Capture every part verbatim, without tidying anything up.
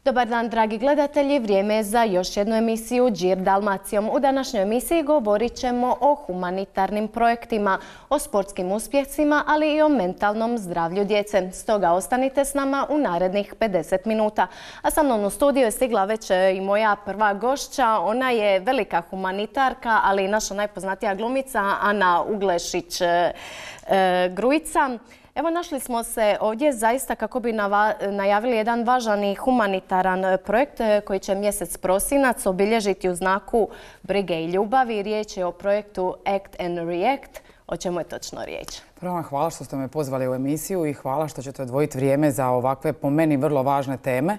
Dobar dan, dragi gledatelji. Vrijeme je za još jednu emisiju Đir Dalmacijom. U današnjoj emisiji govorit ćemo o humanitarnim projektima, o sportskim uspjesima, ali i o mentalnom zdravlju djece. Stoga ostanite s nama u narednih pedeset minuta. A sa mnom u studiju je stigla već i moja prva gošća. Ona je velika humanitarka, ali i naša najpoznatija glumica Ana Uglešić-Grujica. Evo, našli smo se ovdje zaista kako bi najavili jedan važan i humanitaran projekt koji će mjesec prosinac obilježiti u znaku brige i ljubavi. Riječ je o projektu Act and React. O čemu je točno riječ? Prvo vam hvala što ste me pozvali u emisiju i hvala što ćete odvojiti vrijeme za ovakve, po meni, vrlo važne teme.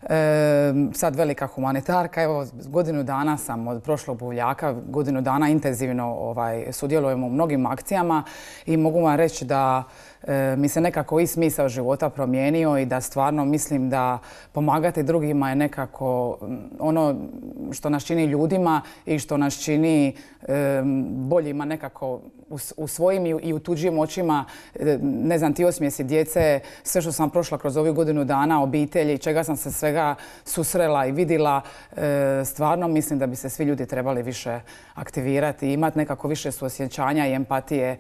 E, sad velika humanitarka, evo godinu dana sam od prošlog buvljaka, godinu dana intenzivno ovaj, sudjelujemo u mnogim akcijama i mogu vam reći da e, mi se nekako i smisao života promijenio i da stvarno mislim da pomagati drugima je nekako ono što nas čini ljudima i što nas čini e, boljima nekako u, u svojim i u tuđim očima. E, ne znam, ti osmijesi djece, sve što sam prošla kroz ovih godinu dana, obitelji, čega sam se sve susrela i vidjela, stvarno mislim da bi se svi ljudi trebali više aktivirati i imati nekako više suosjećanja i empatije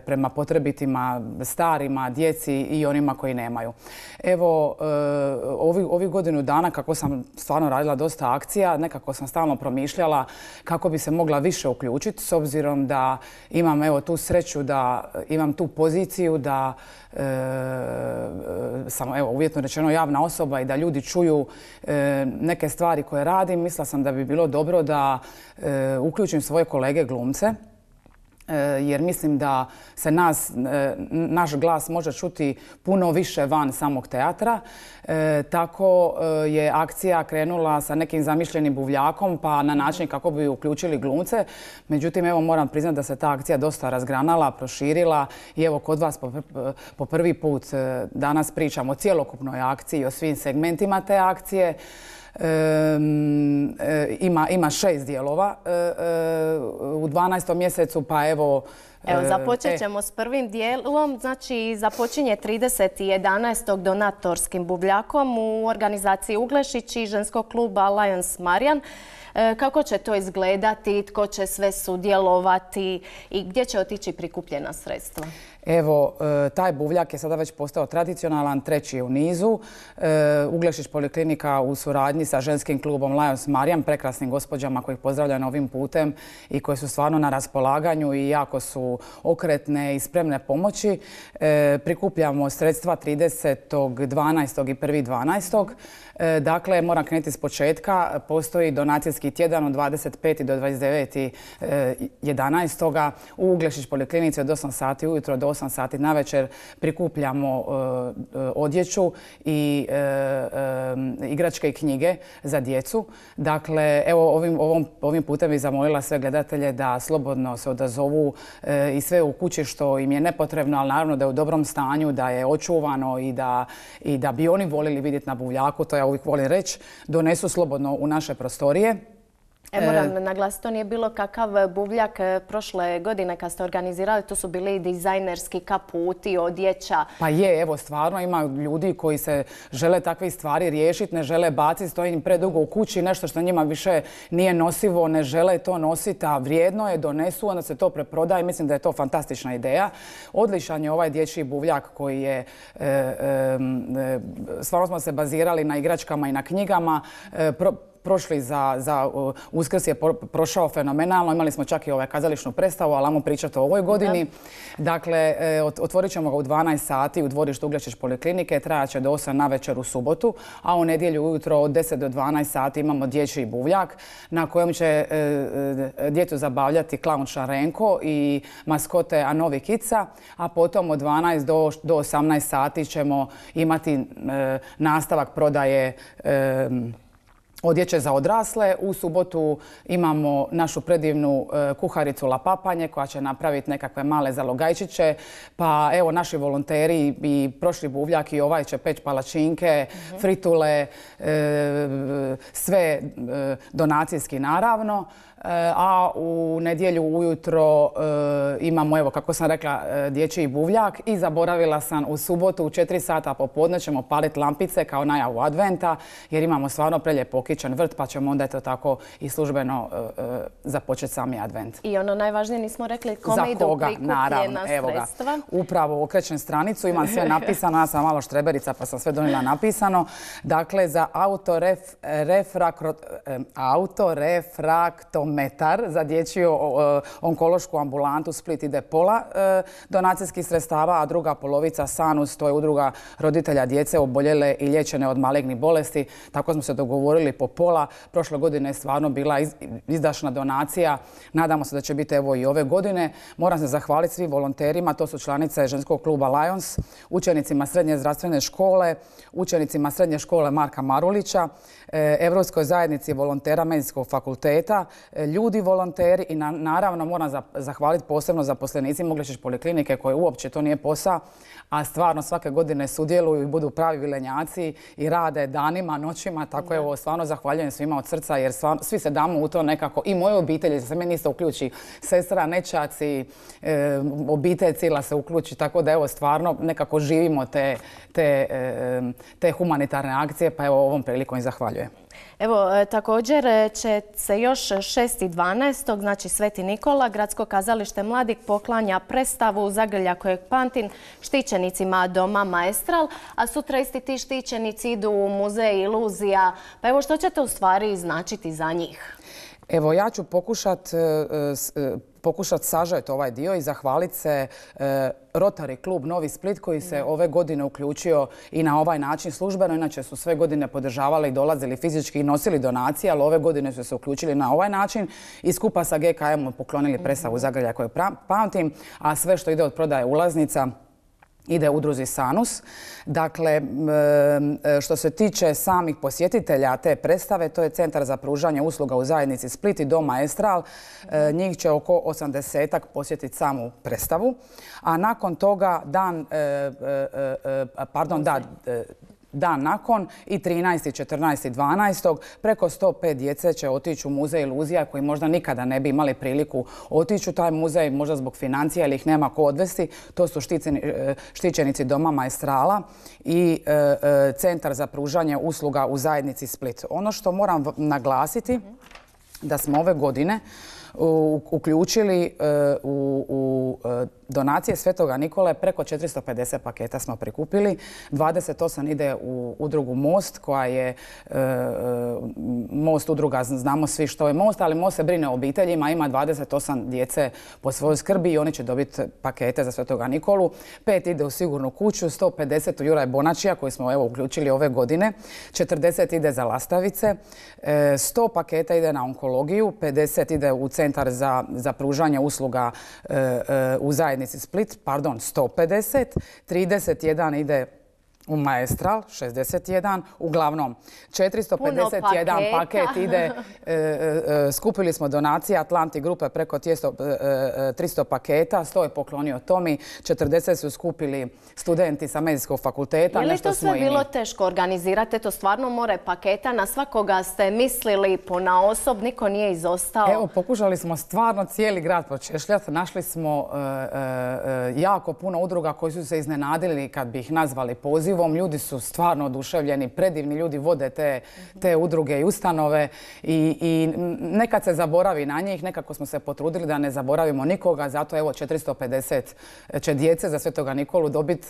prema potrebitima, starima, djeci i onima koji nemaju. Evo, ovih ovi godinu dana kako sam stvarno radila dosta akcija, nekako sam stalno promišljala kako bi se mogla više uključiti s obzirom da imam evo tu sreću da imam tu poziciju da E, sam evo, uvjetno rečeno javna osoba i da ljudi čuju e, neke stvari koje radim. Mislila sam da bi bilo dobro da e, uključim svoje kolege glumce, jer mislim da se nas, naš glas može čuti puno više van samog teatra. E, tako je akcija krenula sa nekim zamišljenim buvljakom pa na način kako bi uključili glumce. Međutim, evo moram priznati da se ta akcija dosta razgranala, proširila i evo kod vas po, po prvi put danas pričamo o cjelokupnoj akciji, o svim segmentima te akcije. E, e, ima, ima šest dijelova e, e, u dvanaestom mjesecu, pa evo... Evo, započet ćemo e. s prvim dijelom. Znači, započinje trideset jedanaestog donatorskim buvljakom u organizaciji Uglešić i ženskog kluba Lions Marijan. E, kako će to izgledati, tko će sve sudjelovati i gdje će otići prikupljena sredstva? Evo, taj buvljak je sada već postao tradicionalan, treći u nizu. Uglešić poliklinika u suradnji sa ženskim klubom Lions Marijan, prekrasnim gospođama kojih pozdravljam ovim putem i koje su stvarno na raspolaganju i jako su okretne i spremne pomoći. Prikupljamo sredstva tridesetog dvanaestog i prvog dvanaestog Dakle, moram krenuti s početka. Postoji donacijski tjedan od dvadeset petog do dvadeset devetog jedanaestog u Uglešić poliklinici od osam sati ujutro do osam sati navečer prikupljamo odjeću i igračke i knjige za djecu. Dakle, evo ovim, ovom, ovim putem bih zamolila sve gledatelje da slobodno se odazovu i sve u kući što im je nepotrebno, ali naravno da je u dobrom stanju, da je očuvano i da, i da bi oni volili vidjeti na buvljaku. To ja uvijek volim reći, donesu slobodno u naše prostorije. E, moram naglasiti, to nije bilo kakav buvljak prošle godine kad ste organizirali, to su bili i dizajnerski kaputi, odjeća. Pa je, evo stvarno ima ljudi koji se žele takve stvari riješiti, ne žele baciti, stoji im predugo u kući, nešto što njima više nije nosivo, ne žele to nositi, a vrijedno je, donesu, onda se to preprodaje. Mislim da je to fantastična ideja. Odličan je ovaj dječji buvljak koji je, e, e, stvarno smo se bazirali na igračkama i na knjigama. E, pro, Prošli za, za Uskrs je prošao fenomenalno. Imali smo čak i ovaj kazališnu predstavu, ali ajmo pričati o ovoj godini. Da. Dakle, otvorit ćemo ga u dvanaest sati u dvorištu Uglešić poliklinike. Trajat će do osam navečer u subotu, a u nedjelju ujutro od deset do dvanaest sati imamo dječji buvljak na kojem će e, djecu zabavljati klaun Šarenko i maskote Anovi Kica, a potom od dvanaest do osamnaest sati ćemo imati e, nastavak prodaje e, odjeće za odrasle. U subotu imamo našu predivnu kuharicu La Papanje koja će napraviti nekakve male zalogajčiće. Pa evo naši volonteri i prošli buvljak i ovaj će peći palačinke, mm-hmm. fritule, sve donacijski naravno. a u nedjelju ujutro imamo, evo kako sam rekla, dječji buvljak i zaboravila sam u subotu u četiri sata popodne ćemo paliti lampice kao najavu adventa jer imamo stvarno prelijep okićen vrt pa ćemo onda eto tako i službeno započeti sami advent. I ono najvažnije nismo rekli kome idu prikupljena sredstva. Upravo okrećem stranicu, imam sve napisano, ja sam malo štreberica pa sam sve donijela napisano. Dakle, za autorefraktometar za dječju onkološku ambulantu Split ide pola donacijskih sredstava, a druga polovica Sanus, to je udruga roditelja djece oboljele i liječene od malignih bolesti. Tako smo se dogovorili po pola. Prošle godine je stvarno bila izdašna donacija. Nadamo se da će biti evo i ove godine. Moram se zahvaliti svim volonterima, to su članice ženskog kluba Lions, učenicima srednje zdravstvene škole, učenicima srednje škole Marka Marulića, Europskoj zajednici volontera Medicinskog fakulteta, ljudi volonteri i naravno moram zahvaliti posebno zaposlenicima Uglješić poliklinike koje uopće to nije posao, a stvarno svake godine sudjeluju i budu pravi vilenjaci i rade danima, noćima, tako evo stvarno zahvaljujem svima od srca jer stvarno, svi se damo u to nekako i moje obitelji, se meni isto uključi sestra, nećaci, e, obitelj cijela se uključi, tako da evo stvarno nekako živimo te, te, e, te humanitarne akcije, pa evo ovom prilikom i zahvaljujem. Evo, također će se još šestog dvanaestog znači Sveti Nikola, Gradsko kazalište mladih poklanja predstavu Zagrlja kojeg pamtim štićenicima doma Maestral, a sutra isti ti štićenici idu u muzej Iluzija. Pa evo, što ćete u stvari značiti za njih? Evo, ja ću pokušati pokušati sažeti ovaj dio i zahvaliti se Rotary klub Novi Split koji se ove godine uključio i na ovaj način službeno. Inače su sve godine podržavali i dolazili fizički i nosili donacije, ali ove godine su se uključili na ovaj način i skupa sa G K M-om poklonili predstavu Zagrlja koju pamtim, a sve što ide od prodaje ulaznica ide udruzi Sanus. Dakle, što se tiče samih posjetitelja te predstave, to je Centar za pružanje usluga u zajednici Split i Dom Maestral. Njih će oko osamdesetak posjetiti samu predstavu. A nakon toga dan, pardon, da, dan nakon i trinaestog, četrnaestog, dvanaestog preko sto pet djece će otići u muzej Iluzija koji možda nikada ne bi imali priliku otići u taj muzej, možda zbog financija ili ih nema ko odvesti. To su štićenici Doma Maestrala i Centar za pružanje usluga u zajednici Split. Ono što moram naglasiti da smo ove godine uključili u, u donacije Svetoga Nikole preko četiristo pedeset paketa smo prikupili. dvadeset osam ide u udrugu Most koja je Most udruga, znamo svi što je Most, ali Most se brine o obiteljima, ima dvadeset osam djece po svojoj skrbi i oni će dobiti pakete za Svetoga Nikolu. Pet ide u Sigurnu kuću, sto pedeset u Juraj Bonačija koji smo evo uključili ove godine, četrdeset ide za Lastavice, sto paketa ide na onkologiju, pedeset ide u Centar za, za pružanje usluga e, e, u zajednici Split, pardon, sto pedeset, trideset jedan ide u Maestral, šezdeset jedan, uglavnom četiristo pedeset jedan paket ide, e, e, skupili smo donacije Atlanti grupe preko tristo paketa, sto je poklonio Tomi, četrdeset su skupili studenti sa Medicinskog fakulteta. Je li to sve bilo teško organizirati? To stvarno more paketa, na svakoga ste mislili ponaosob, niko nije izostao? Evo, pokušali smo stvarno cijeli grad počešljati, našli smo e, e, jako puno udruga koji su se iznenadili kad bi ih nazvali pozivom. Ljudi su stvarno oduševljeni, predivni ljudi vode te, te udruge i ustanove i, i nekad se zaboravi na njih, nekako smo se potrudili da ne zaboravimo nikoga, zato evo četiristo pedeset će djece za Svetoga Nikolu dobiti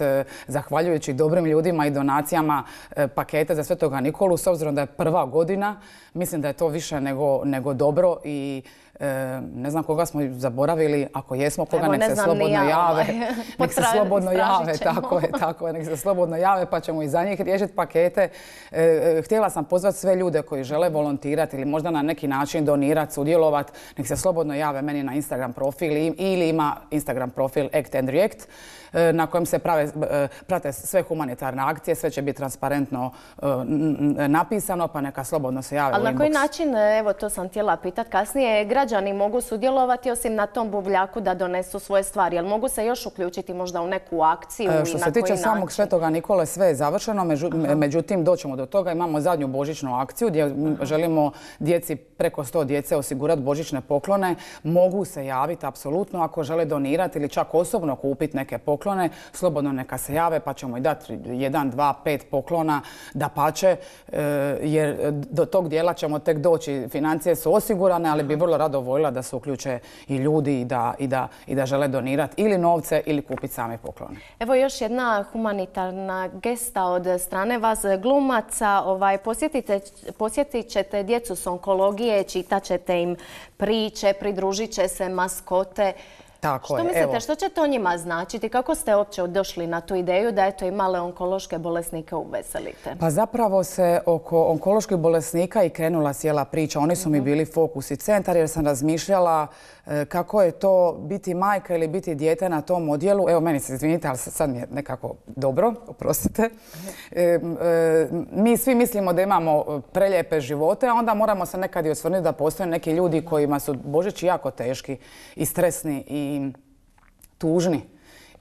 zahvaljujući dobrim ljudima i donacijama pakete za Svetoga Nikolu, s obzirom da je prva godina, mislim da je to više nego, nego dobro i E, ne znam koga smo zaboravili, ako jesmo koga, Evo, nek se ne slobodno ja, jave. ovaj. Nek se slobodno jave, tako je, tako je, nek se slobodno jave pa ćemo i za njih riješiti pakete. E, htjela sam pozvati sve ljude koji žele volontirati ili možda na neki način donirati, sudjelovati, nek se slobodno jave meni na Instagram profil ili ima Instagram profil Act and React na kojem se prave, prate sve humanitarne akcije, sve će biti transparentno napisano, pa neka slobodno se jave u inbox. Ali na koji način, evo to sam htjela pitati kasnije, građani građani mogu sudjelovati osim na tom buvljaku da donesu svoje stvari? Jel mogu se još uključiti možda u neku akciju? Što se tiče samog Svetoga Nikole, sve je završeno, međutim doćemo do toga. Imamo zadnju božićnu akciju gdje želimo djeci, preko sto djece, osigurati božićne poklone. Mogu se javiti apsolutno ako žele donirati ili čak osobno kupiti neke poklone. Slobodno neka se jave pa ćemo i dati jedan, dva, pet poklona dapače, jer do tog dijela ćemo tek doći. Financije su osigurane, ali bi vrlo rado voljela da se uključe i ljudi i da, i da, i da žele donirati ili novce ili kupiti same poklone. Evo još jedna humanitarna gesta od strane vas glumaca. Ovaj, posjetite, posjetit ćete djecu s onkologije, čitat ćete im priče, pridružit će se maskote. Tako što je, mislite, evo. Što će to njima značiti? Kako ste uopće došli na tu ideju da eto i male onkološke bolesnike uveselite? Pa zapravo se oko onkoloških bolesnika i krenula cijela priča. Oni su mi bili fokus i centar jer sam razmišljala kako je to biti majka ili biti dijete na tom odjelu. Evo, meni se izvinite, ali sad mi je nekako dobro, oprostite. Mi svi mislimo da imamo prelijepe živote, a onda moramo se nekad i osvrnuti da postoje neki ljudi kojima su Božići jako teški i stresni i tužni.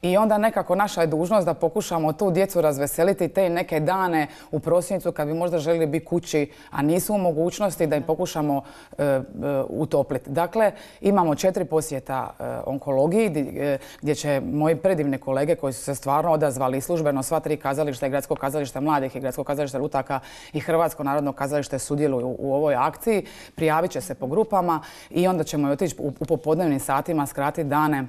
I onda nekako naša je dužnost da pokušamo tu djecu razveseliti te neke dane u prosincu kad bi možda željeli biti kući, a nisu u mogućnosti da im pokušamo e, e, utopliti. Dakle, imamo četiri posjeta e, onkologiji gdje, gdje će moji predivni kolege koji su se stvarno odazvali službeno sva tri kazališta i Gradsko kazalište mladih i Gradsko kazalište Lutaka i Hrvatsko narodno kazalište sudjeluju u, u ovoj akciji. Prijavit će se po grupama i onda ćemo otići u, u popodnevnim satima, skratiti dane,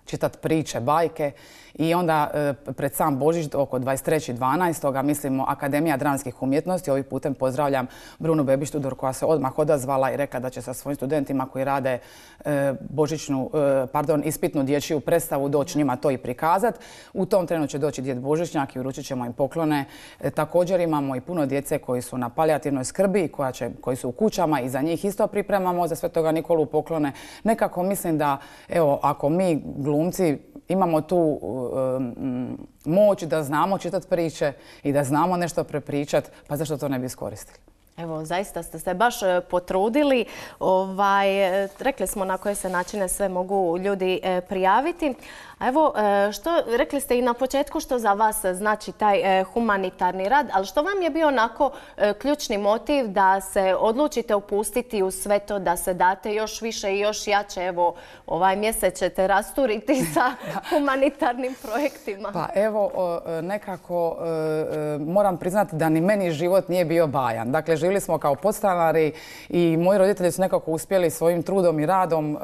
čitati priče, bajke i onda e, pred sam Božić oko dvadeset trećeg dvanaestog mislimo Akademija dramskih umjetnosti. Ovim putem pozdravljam Brunu Bebić-Tudor koja se odmah odazvala i rekla da će sa svojim studentima koji rade e, božićnu, e, pardon, ispitnu dječju predstavu doći njima to i prikazati. U tom trenu će doći djed Božićnjak i uručit ćemo im poklone. E, također imamo i puno djece koji su na palijativnoj skrbi, koja će, koji su u kućama i za njih isto pripremamo za Svetoga Nikolu poklone. Nekako mislim da, evo, ako mi glumci imamo tu um, moć da znamo čitati priče i da znamo nešto prepričati, pa zašto to ne bi iskoristili? Evo, zaista ste se baš potrudili. Ovaj, rekli smo na koje se načine sve mogu ljudi prijaviti. A evo, što, rekli ste i na početku što za vas znači taj humanitarni rad, ali što vam je bio onako ključni motiv da se odlučite upustiti u sve to, da se date još više i još jače? Evo, ovaj mjesec ćete rasturiti sa humanitarnim projektima. Pa evo, nekako moram priznati da ni meni život nije bio bajan. Dakle, živjeli smo kao podstanari i moji roditelji su nekako uspjeli svojim trudom i radom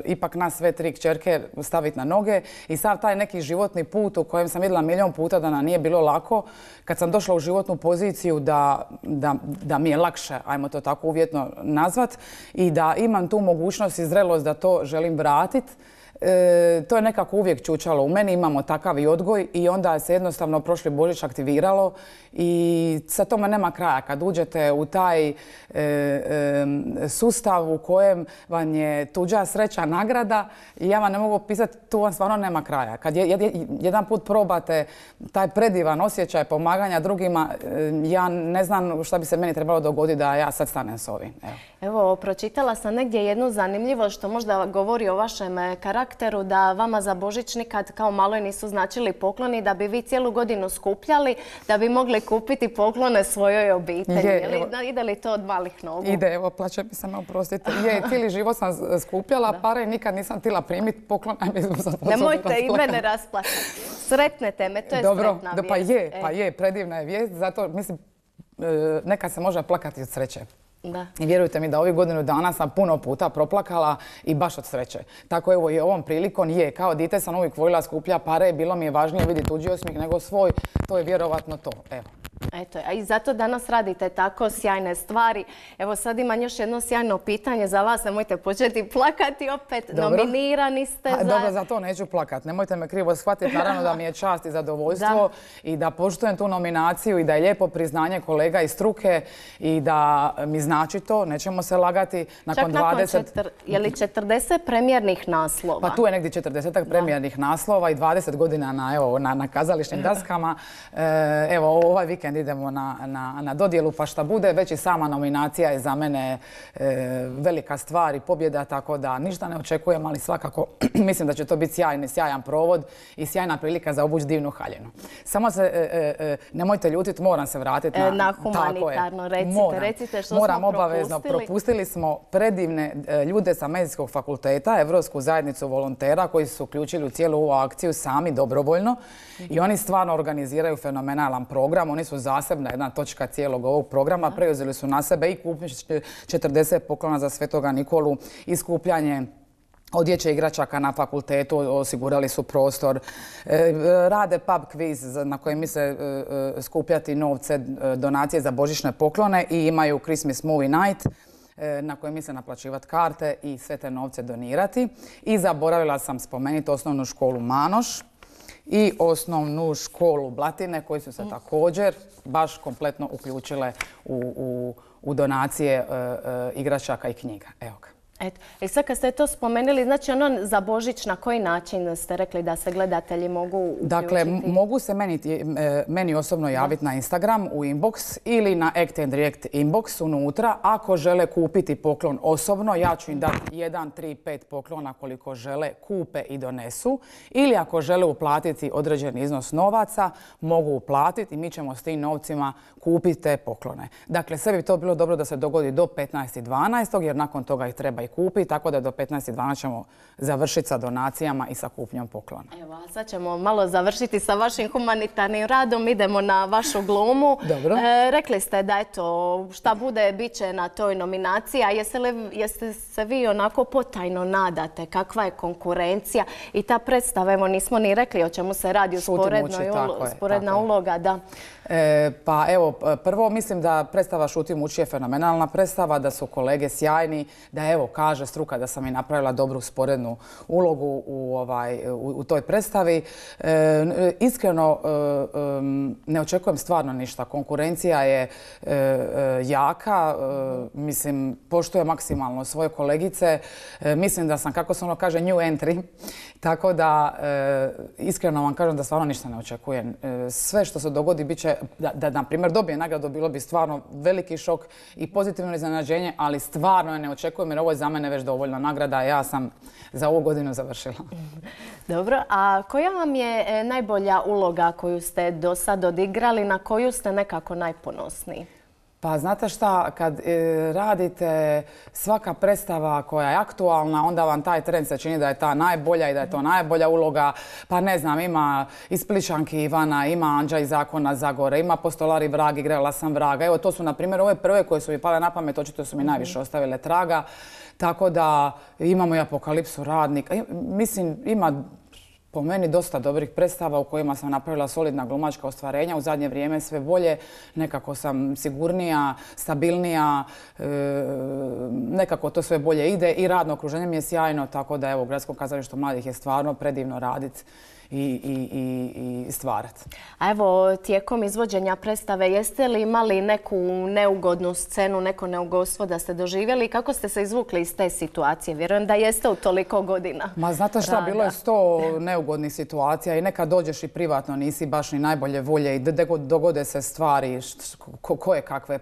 ipak nas sve tri kćerke staviti na noge. I sav taj neki životni put u kojem sam vidjela milijon puta da nam nije bilo lako, kad sam došla u životnu poziciju da, da, da mi je lakše, ajmo to tako uvjetno nazvat, i da imam tu mogućnost i zrelost da to želim vratiti, E, to je nekako uvijek čučalo. U meni imamo takav i odgoj i onda se jednostavno prošli Božić aktiviralo i sa tome nema kraja. Kad uđete u taj e, e, sustav u kojem vam je tuđa sreća nagrada, ja vam ne mogu opisati, tu vam stvarno nema kraja. Kad je, jed, jedan put probate taj predivan osjećaj pomaganja drugima, e, ja ne znam šta bi se meni trebalo dogoditi da ja sad stanem s ovim. Evo. Evo, pročitala sam negdje jednu zanimljivost što možda govori o vašem karakteru, da vama za Božić nikad kao maloj nisu značili pokloni, da bi vi cijelu godinu skupljali, da bi mogli kupiti poklone svojoj obitelji. Je, evo, ide li to od malih nogu? Ide, evo, plaće mi se me oprostiti. Je, cijeli život sam skupljala pare i nikad nisam htjela primiti poklon. Nemojte i mene rasplaćati. Sretnete me, to je dobro, sretna da, pa vijest. je, pa je, predivna je vijest, zato mislim, nekad se može plakati od sreće. Da. I vjerujte mi da ovih godinu dana sam puno puta proplakala i baš od sreće. Tako evo i ovom prilikom je, kao dite sam uvijek voljela skuplja pare, bilo mi je važnije vidjeti tuđi osmijeh nego svoj, to je vjerovatno to. Evo. Eto, a i zato danas radite tako sjajne stvari. Evo sad imam još jedno sjajno pitanje za vas, nemojte početi plakati opet. Dobro. Nominirani ste a, za... Dobro, za to neću plakati, nemojte me krivo shvatiti. Naravno da mi je čast i zadovoljstvo da. I da poštujem tu nominaciju i da je lijepo priznanje kolega iz struke i da mi znači to, nećemo se lagati. Nakon Čak nakon dvadeset... četir... je li četrdeset premijernih naslova? Pa tu je negdje četrdesetak premijernih naslova i dvadeset godina na, evo, na, na kazališnim daskama. E, evo, ovaj vikend vikend idemo na, na, na dodjelu, pa šta bude, već i sama nominacija je za mene e, velika stvar i pobjeda, tako da ništa ne očekujem, ali svakako mislim da će to biti sjajni, sjajan provod i sjajna prilika za obući divnu haljinu. Samo se, e, e, nemojte ljutiti, moram se vratiti na, na humanitarno, recite, moram, recite što moram smo obavezno. propustili. Propustili smo predivne e, ljude sa Medicinskog fakulteta, Evropsku zajednicu volontera koji su uključili u cijelu ovu akciju sami dobrovoljno i oni stvarno organiziraju fenomenalan program. Oni su zasebna jedna točka cijelog ovog programa. Preuzeli su na sebe i kupnju četrdeset poklona za Svetoga Nikolu i skupljanje odjeće igračaka na fakultetu, osigurali su prostor. Rade pub quiz na kojem misle skupljati novce, donacije za božićne poklone i imaju Christmas Movie Night na kojem misle naplaćivati karte i sve te novce donirati. I zaboravila sam spomenuti osnovnu školu Manoš i osnovnu školu Blatine koji su se također baš kompletno uključile u, u, u donacije e, e, igračaka i knjiga. Evo ga. Eto. I sad kad ste to spomenuli, znači ono za Božić na koji način ste rekli da se gledatelji mogu uključiti? Dakle, mogu se meni, meni osobno javiti na Instagram u inbox ili na Act and React inbox unutra. Ako žele kupiti poklon osobno, ja ću im dati jedan, tri, pet poklona koliko žele, kupe i donesu. Ili ako žele uplatiti određeni iznos novaca, mogu uplatiti i mi ćemo s tim novcima kupiti te poklone. Dakle, sve bi to bilo dobro da se dogodi do petnaestog dvanaestog jer nakon toga ih treba i kupi, tako da do petnaestog dvanaestog ćemo završiti sa donacijama i sa kupnjom poklona. Evo, a sad ćemo malo završiti sa vašim humanitarnim radom. Idemo na vašu glumu. Dobro. E, rekli ste da eto, šta bude, bit će na toj nominaciji. A jeste, li, jeste se vi onako potajno nadate? Kakva je konkurencija? I ta predstava, evo nismo ni rekli o čemu se radi, usporedna uloga. Da. E, pa evo, prvo mislim da predstava Šutim uči je fenomenalna predstava, da su kolege sjajni, da evo kaže struka da sam i napravila dobru sporednu ulogu u, ovaj, u, u toj predstavi. E, iskreno e, ne očekujem stvarno ništa. Konkurencija je e, e, jaka, e, mislim, poštujem maksimalno svoje kolegice. E, mislim da sam, kako se ono kaže, new entry. Tako da, e, iskreno vam kažem da stvarno ništa ne očekujem. E, sve što se dogodi bit će, da, da na primjer dobije nagradu, bilo bi stvarno veliki šok i pozitivno iznenađenje, ali stvarno je ne očekujem jer ovo je za mene već dovoljno nagrada. Ja sam za ovu godinu završila. Dobro, a koja vam je najbolja uloga koju ste do sad odigrali, na koju ste nekako najponosniji? Pa znate šta, kad e, radite svaka predstava koja je aktualna, onda vam taj trend se čini da je ta najbolja i da je to najbolja uloga. Pa ne znam, ima iz Plišanki Ivana, ima Anđa iz Zakona Zagore, ima Postolari vrag, igrala sam vraga. Evo to su na primjer ove prve koje su mi pale na pamet, očito su mi najviše ostavile traga. Tako da imamo i Apokalipsu radnika. Mislim, ima po meni dosta dobrih predstava u kojima sam napravila solidna glumačka ostvarenja. U zadnje vrijeme sve bolje, nekako sam sigurnija, stabilnija, e, nekako to sve bolje ide i radno okruženje mi je sjajno, tako da evo, u Gradskom kazalištu mladih je stvarno predivno raditi i, i, i, i stvarati. A evo, tijekom izvođenja predstave, jeste li imali neku neugodnu scenu, neko neugodstvo da ste doživjeli? Kako ste se izvukli iz te situacije? Vjerujem da jeste u toliko godina. Ma znate šta, bilo je sto neugodnih situacija i nekad dođeš i privatno nisi baš ni najbolje volje i dogode se stvari koje kakve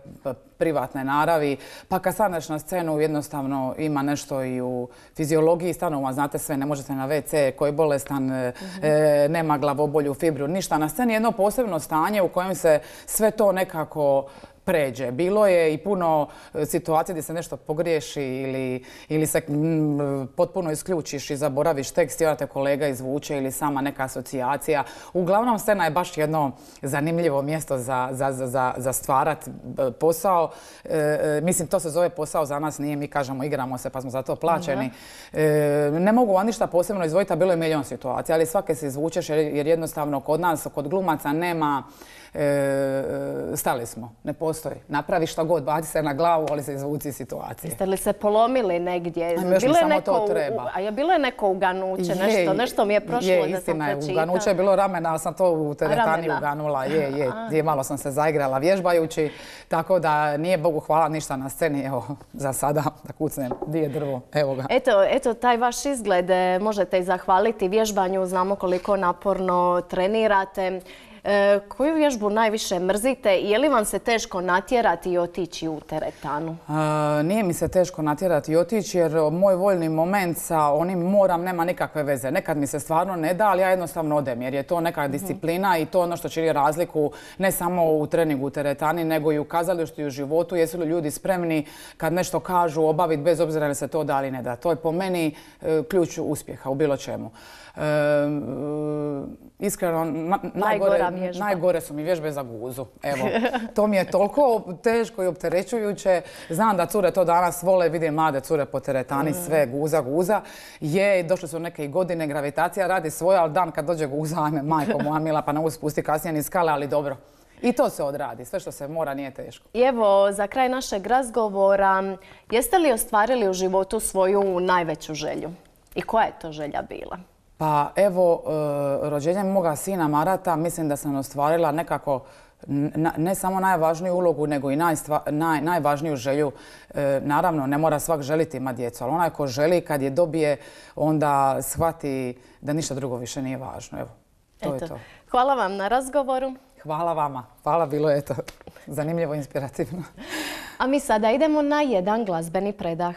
privatne naravi. Pa kad staneš na scenu jednostavno ima nešto i u fiziologiji stanova, znate sve, ne možete na ve ce, ko je bolestan, mm-hmm. e, nema glavobolju, fibru, ništa. Na sceni je jedno posebno stanje u kojem se sve to nekako pređe. Bilo je i puno situacija gdje se nešto pogriješi ili, ili se m, potpuno isključiš i zaboraviš tekst i onda te kolega izvuče ili sama neka asocijacija. Uglavnom, scena je baš jedno zanimljivo mjesto za, za, za, za stvarat posao. E, mislim, to se zove posao za nas, nije mi kažemo igramo se pa smo za to plaćeni. E, ne mogu vam ništa posebno izvojiti, a bilo je milion situacija, ali svake se izvučeš jer, jer jednostavno kod nas, kod glumaca nema E, stali smo, ne postoji. Napravi šta god, baci se na glavu, ali se izvuci situacije. Jeste li se polomili negdje? A još mi samo to treba. A je bilo je neko uganuće, nešto, nešto mi je prošlo je, da sam istina, pročitala. Uganuće je bilo ramena, ali sam to u teretani uganula. Je, je, je, malo sam se zaigrala vježbajući, tako da nije Bogu hvala ništa na sceni. Evo, za sada da kucnem, di je drvo, evo ga. Eto, eto, taj vaš izgled možete i zahvaliti vježbanju, znamo koliko naporno trenirate. E, koju vježbu najviše mrzite? Je li vam se teško natjerati i otići u teretanu? A, nije mi se teško natjerati i otići jer moj voljni moment sa onim moram nema nikakve veze. Nekad mi se stvarno ne da, ali ja jednostavno odem jer je to neka disciplina i to ono što čini razliku ne samo u treningu u teretani, nego i u kazalištu i u životu. Jesu li ljudi spremni kad nešto kažu obaviti bez obzira li se to da ili ne da. To je po meni e, ključ uspjeha u bilo čemu. E, iskreno, na, najgore, najgore su mi vježbe za guzu. Evo, to mi je toliko teško i opterećujuće. Znam da cure to danas vole, vidim mlade cure po teretani, sve guza, guza. Je, došle su neke godine, gravitacija radi svoje, ali dan kad dođe guza, ajme, majko moja mila, pa ne mogu spusti kasnije ni skale, ali dobro. I to se odradi. Sve što se mora nije teško. I evo, za kraj našeg razgovora, jeste li ostvarili u životu svoju najveću želju? I koja je to želja bila? Pa evo, rođenjem moga sina Marata mislim da sam ostvarila nekako ne samo najvažniju ulogu, nego i naj, najvažniju želju. Naravno, ne mora svak želiti imati djecu, ali onaj ko želi kad je dobije, onda shvati da ništa drugo više nije važno. Evo, to Eto. je to. Hvala vam na razgovoru. Hvala vama. Hvala, bilo je to zanimljivo, inspirativno. A mi sada idemo na jedan glazbeni predah.